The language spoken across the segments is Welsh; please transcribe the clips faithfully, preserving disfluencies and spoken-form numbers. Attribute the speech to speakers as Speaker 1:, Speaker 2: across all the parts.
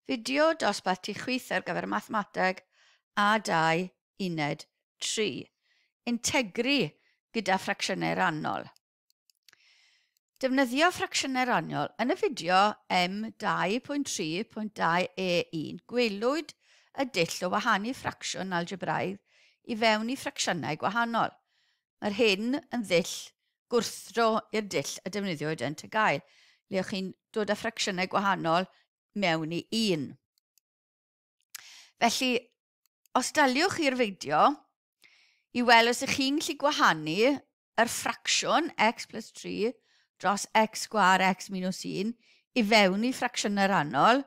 Speaker 1: Fideo dosbarth ti chwith ar gyfer mathemateg A dau uned tri. Integru gyda ffracsiynau rannol. Defnyddio ffracsiynau rannol. Yn y fideo M dau pwynt tri pwynt dau E un, gwelwyd y dull o wahanu ffracsiwn algebraidd i fewn i ffracsiynau gwahanol. Mae'r hyn yn ddull gwrthdro i'r dull y defnyddiwyd yn T G A U, le o'ch chi'n dod â ffracsiynau gwahanol mewn i un. Felly, os daliwch i'r fideo, i weld os ych chi'n gallu gwahanu yr ffracsiwn x plus tri dros x sgwâr x minus un i fewn i ffracsiynau rannol,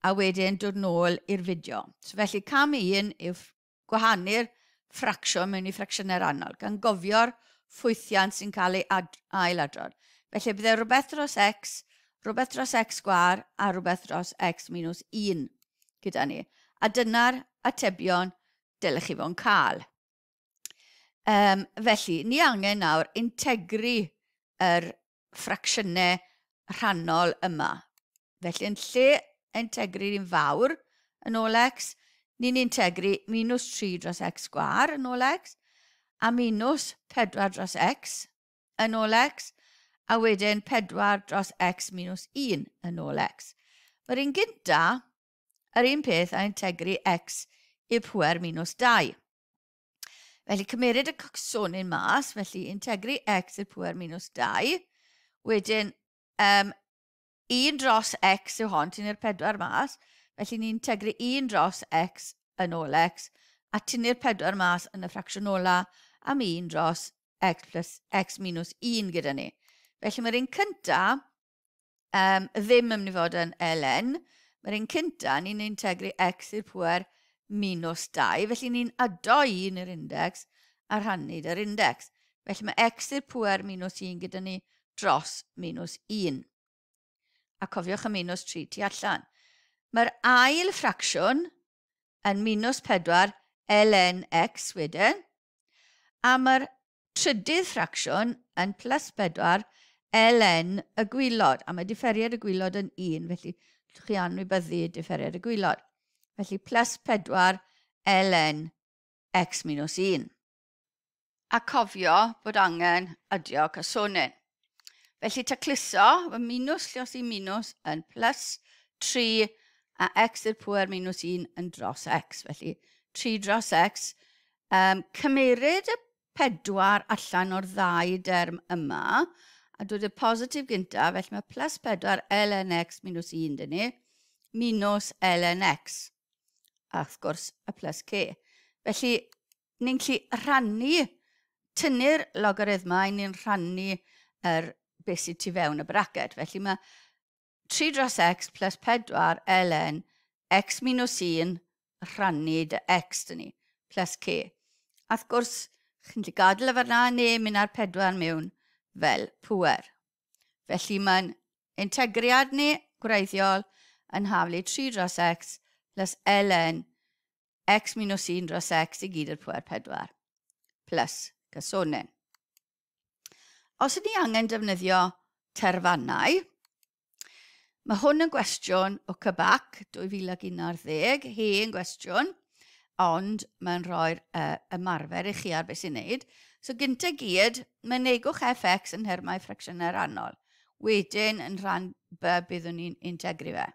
Speaker 1: a wedyn dod nôl i'r fideo. So felly cam un yw gwahanu'r ffracsiwn mewn i ffracsiynau rannol, gan gofio'r ffwythiant sy'n cael ei ailadrodd. Felly bydde rhywbeth dros x, rhywbeth dros x sgwâr a rhywbeth dros x minus un gyda ni. A dyna'r atebion dylech chi fod yn cael. Um, felly, ni angen nawr integru yr ffracsiynau rhannol yma. Felly, yn lle integru'r un fawr yn ôl x, ni'n integru minus tri dros x sgwâr yn ôl x, a minus pedwar dros x yn ôl x, a wedyn pedwar dros x minus un yn ôl x. Mae'r un gynta, yr un peth a integru x i'r pwer minus dau. Felly cymeryd y cocsonyn mas, felly integru x i'r pwer minus dau, wedyn um, un dros x yw hon, tynnu'r pedwar mas, felly ni'n integru un dros x yn ôl x, a tynnu'r pedwar mas yn y ffracsiwn ola am un dros x plus x minus un gyda ni. Felly mae'r un cynta um, ddim yn mynd i fod yn ln, mae'r un cynta ni'n integru x i'r pwer minus dau, felly ni'n ado un i'r index a rhannu yr index. Felly mae x i'r pwer minus un gyda ni dros minus un. A cofiwch y minus tri tu allan. Mae'r ail ffracsiwn yn minus pedwar ln x wedyn, a mae'r trydydd ffracsiwn yn plus pedwar ln y gwaelod, a mae diferiad y gwaelod yn un, felly chi anwybyddu diferiad y gwaelod. Felly plus pedwar ln x minus un. A cofio bod angen adio cysonyn. Felly tacluso, y minus lluosi minus yn plus tri a x i'r pwer minus un yn dros x. Felly tri dros x. Um, cymeryd y pedwar allan o'r ddau derm yma a dod y positif gyntaf, felly mae plus pedwar ln x minus un dyn ni, minus ln x. A wrth gwrs y plus c. Felly, ni'n gallu rhannu, tynnu'r logarithmau, ni'n rhannu yr beth sydd tu fewn y braced. Felly mae tri dros x plus pedwar ln x minus un rhannu dy x dyn ni, plus c. A wrth gwrs, chi'n gallu gadael y fan'na neu mynd â'r pedwar mewn fel pwer. Felly mae'n integriad ni gwreiddiol yn haflu tri dros x plus ln x minus un dros x i gyd i'r pwer pedwar plus cysonyn. Os ydyn ni angen defnyddio terfannau, mae hwn yn gwestiwn o C B A C dwy fil ac un ar ddeg, hen gwestiwn, ond mae'n rhoi'r uh, ymarfer i chi ar beth sy'n neud. So gyntaf gyd, mynegwch f(x) yn nhermau ffracsiynau rannol. Wedyn, yn rhan B, byddwn ni'n integru fe.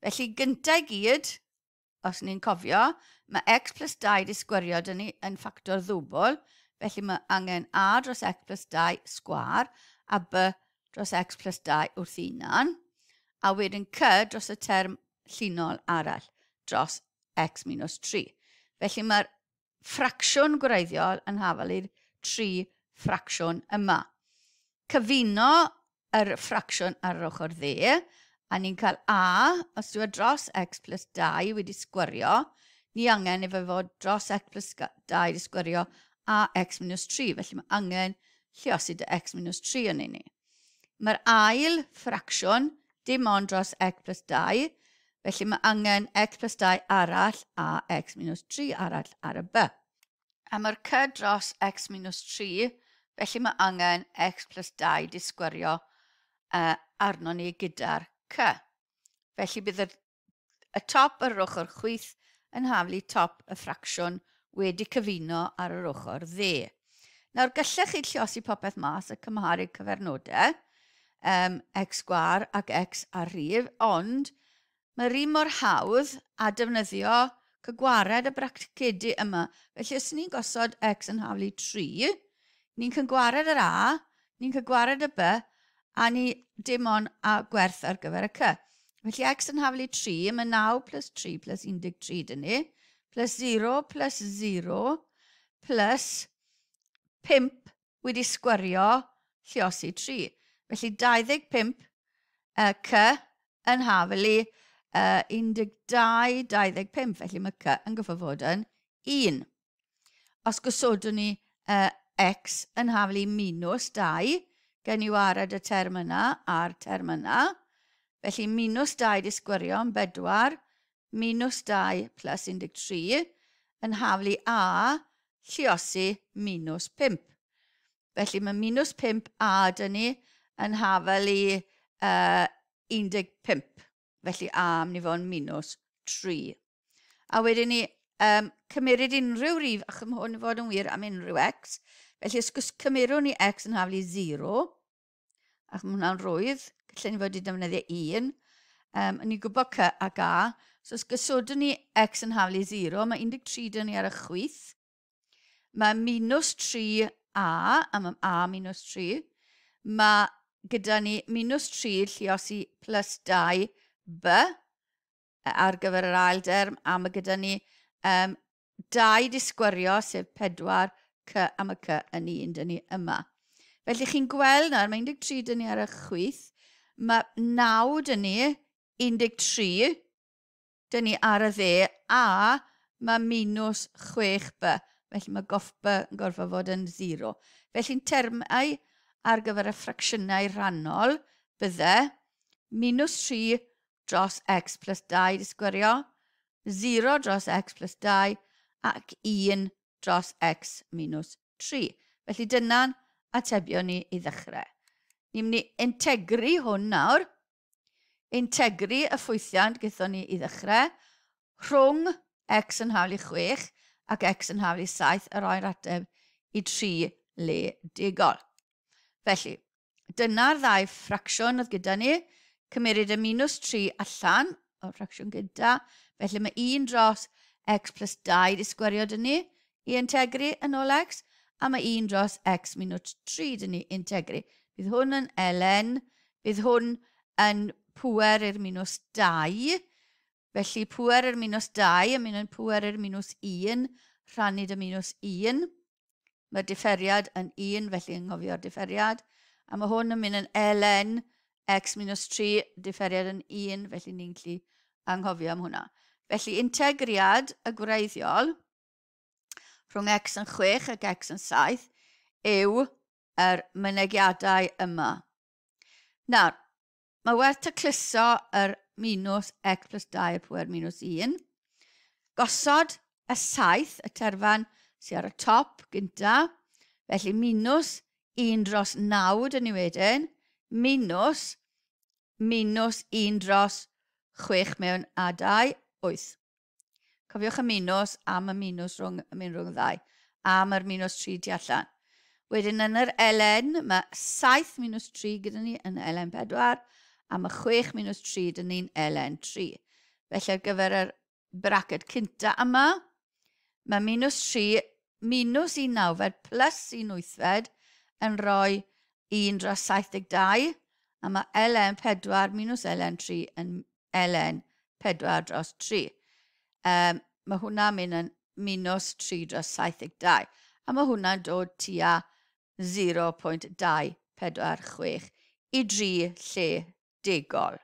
Speaker 1: Felly gyntaf gyd, os ni'n cofio, mae x plus dau di sgwario dyn ni yn ffactor ddwbl, felly mae angen a dros x plus dau sgwâr a b dros x plus dau wrth unan, a wedyn c dros y term llinol arall dros x minus tri. Felly mae'r ffracsiwn gwreiddiol yn hafal i'r tri ffracsiwn yma. Cyfuno yr ffracsiwn ar yr ochr dde, a ni'n cael a, os yw e dros x plus dau wedi sgwario, ni angen i fe fod dros x plus dau wedi sgwario a x minus tri. Felly mae angen lluosi dy x minus tri yn ni. Mae'r ail ffracsiwn dim ond dros x plus dau, felly mae angen x plus dau arall a x minus tri arall ar y b. A mae'r c dros x minus tri, felly mae angen x plus dau di sgwario uh, arno ni gyda'r c. Felly bydd y y top ar yr ochr chwith yn haflu top y ffracsiwn wedi cyfuno ar yr ochr dde. Nawr, gallech chi lliosi popeth mas a cymharu cyfernodau, um, x sgwâr ac x ar rhif, ond mae'r un mor hawdd a defnyddio cygwared y bracedi yma. Felly, os ni'n gosod x yn haflu tri, ni'n cygwared yr a, ni'n cygwared y b, a ni dim ond a gwerth ar gyfer y c. Felly x yn haflu tri, mae naw plus tri plus un deg tri dyn ni, plus zero plus zero plus pump wedi sgwario lliosi tri. Felly dau ddeg pump uh, c yn haflu uh, un deg dau, dau ddeg pump, felly mae c yn gorfod fod yn un. Os gosodwn ni uh, x yn haflu minus dau, gen i wared y term yna a'r term yna. Felly minus dau di sgwario yn bedwar, minus dau plus un deg tri, yn haflu a lliosi minus pump. Felly mae minus pump a dyn ni yn haflu uh, un deg pump. Felly a mynd i fod yn minus tri. A wedyn ni um, cymeryd unrhyw rif, ac mae hwn i fod yn wir am unrhyw x. Felly os cymerwn ni x yn haflu zero, ac mae hwnna'n rwydd, gallen ni fod i defnyddio un. Um, ni'n gwybod c ac a. So os gosodwn ni x yn haflu zero, mae un deg tri dyn ni ar y chwith. Mae minus tri a, a mae a minus tri. Mae gyda ni minus tri lliosi plus dau b ar gyfer yr ail derm, a mae gyda ni um, dau di sgwario, sef pedwar c, a mae c yn un dyn ni yma. Felly chi'n gweld nawr, mae un deg tri dyn ni ar y chwith, mae naw dyn ni, un deg tri dyn ni ar y dde, a mae minus chwech b. Felly mae goff b yn gorfod fod yn zero. Felly'n termau ar gyfer y ffracsiynau rhannol bydde minus tri dros x plus dau di sgwario, zero dros x plus dau ac un dros x minus tri. Felly dyna'n atebion ni i ddechrau. Ni'n mynd i integru hwn nawr. Integru y ffwythiant gyda ni i ddechrau rhwng x yn haflu chwech ac x yn haflu saith a roi'r ateb i tri le degol. Felly, dyna'r ddau ffracsiwn oedd gyda ni. Cymeryd y minus tri allan o'r ffracsiwn gyda. Felly mae un dros x plus dau di sgwario dyn ni i integru yn ôl x, a mae un dros x minus tri dyn ni integru. Bydd hwn yn ln, bydd hwn yn pŵer i'r minus dau. Felly pŵer i'r minus dau yn mynd yn pŵer i'r minus un, rhannu dy minus un. Mae'r differiad yn un, felly yn nghofio'r differiad. A mae hwn yn mynd yn ln x minus tri, differiad yn un, felly ni'n gallu anghofio am hwnna. Felly integriad y gwreiddiol rhwng x yn chwech ac x yn saith yw yr mynegiadau yma. Nawr, mae werth tacluso yr minus x plus dau pŵer minus un. Gosod y saith, y terfan sydd ar y top gynta, felly minus un dros naw dyn ni wedyn, minus minus un dros chwech mewn a dau, wyth. Cofiwch y minus am y minus rhwng, mynd rhwng ddau, am yr minus tri tu allan. Wedyn yn yr ln, mae saith minus tri gyda ni yn ln pedwar, a mae chwech minus tri dyn ni'n ln tri. Felly ar gyfer yr braced cynta yma, mae minus tri minus un nawfed plus un wythfed yn rhoi un dros saith deg dau, a mae ln pedwar minus ln tri yn ln pedwar dros tri. Um, mae hwnna'n mynd yn minus tri dros saith deg dau, a mae hwnna'n dod tua zero pwynt dau pedwar chwech i dri lle degol.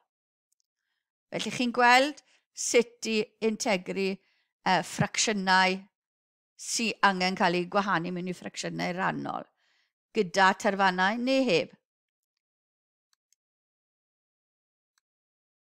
Speaker 1: Felly chi'n gweld sut i integru uh, ffracsiynau sy'n angen cael eu gwahanu mewn i ffracsiynau rhannol, gyda terfannau neu heb.